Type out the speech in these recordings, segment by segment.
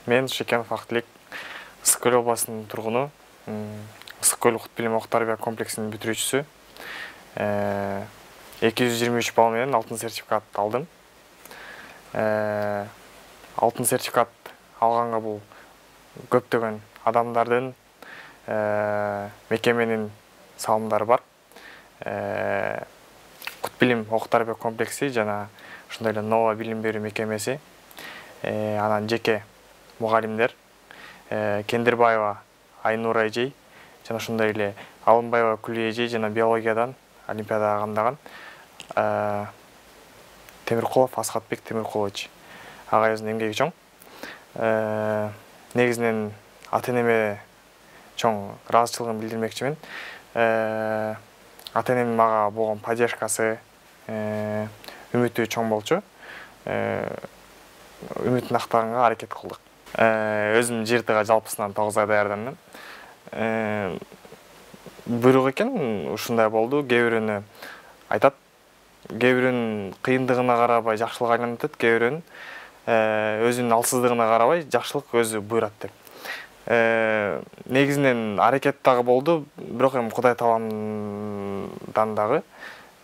Мен Шекенов Актилек, Ысык Көл областынын тургуну, Ысык Көл Кут билим ок тарбия комплексинин бүтүрүүчүсү. 223 балл менен алтын сертификат алдым. Алтын сертификат алганга бул көптөгөн адамдардын, мекеменин салымдары бар. Кут билим ок тарбия комплекси жана ошондой эле Нова билим берүү мекемеси, анан жеке мугалимдер, Кендирбаева Айнура эжей жана ошондой эле Алымбаева Күлүй эжей жана биологиядан олимпиадага камдаган Темиркулов Асхатбек Темиркулович агайыбыздын эмгеги чоң. Негизинен ата-энеме чоң ыраазычылыгын билдирмекчимин. Ата-энемдин мага болгон поддержкасы, үмүтү чоң болчу. Үмүтүн актаганга аракет кылдык. Өзүм ЖРТга жалпысынан 9 ай даярдандым. Буйрук экен, ушундай болду. Кээ бирөөнү айтат, кээ бирөөнүн кыйындыгына карабай жакшылык айланып атат, кээ бирөөнүн өзүнүн алсыздыгына карабай жакшылык өзү буйрат деп. Негизинен аракет дагы болду, бирок эми Кудай тааландан дагы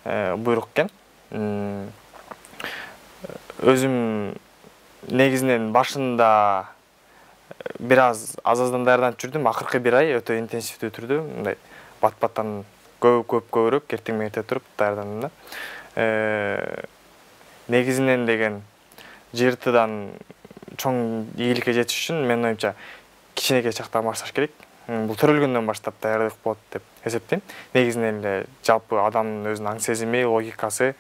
буйрук экен. Өзүм негизинен башында бир аздан даярданып жүрдүм. Акыркы бир ай өтө интенсивдүү түрдө мындай бат-баттан көбүрөөк эртең менен эрте туруп даярдандым да. Негизинен деген ЖРТдан чоң ийгиликке жетиш үчүн менин оюмча кичинекей чактан башташ керек. Бул төрөлгөндөн баштап даярдык болот деп эсептейм. Негизинен эле жалпы адамдын өзүнүн аң сезими, логикасы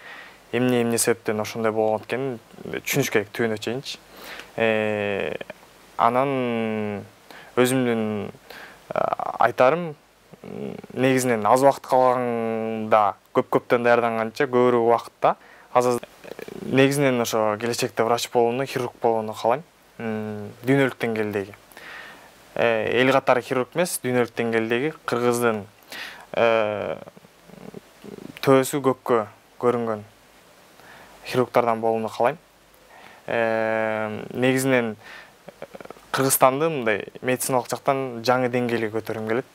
эмне себептен ошондой болгон экенин түшүнүш керек түбүнө чейинчи. Анан өзүмдүн айтарым, негизинен аз убакыт калганда көптөн даярданганча көбүрөөк убакытта негизинен ошо келечекте врач болууну, хирург болууну каалайм. Дүйнөлүк деңгээлдеги. Эл катары хирург эмес, дүйнөлүк деңгээлдеги Кыргыздын төбөсү көккө көрүнгөн хирургдардан болууну каалайм. Негизинен Кыргызстанды мындай медициналык жактан жаңы деңгээлге көтөргүм келет.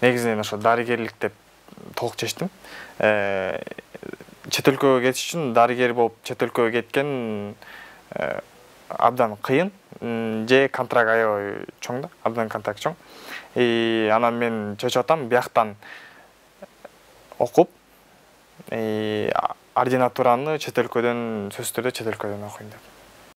Негизинен ошо дарыгерлик деп толук чечтим. Чет өлкөгө кетиш үчүн дарыгер болуп чет өлкөгө кеткен абдан кыйын, же контракт аябай чоң да, абдан контракт чоң. Анан мен чечип атам, бияктан окуп, ординатураны сөзсүз түрдө чет өлкөдөн окуйм деп.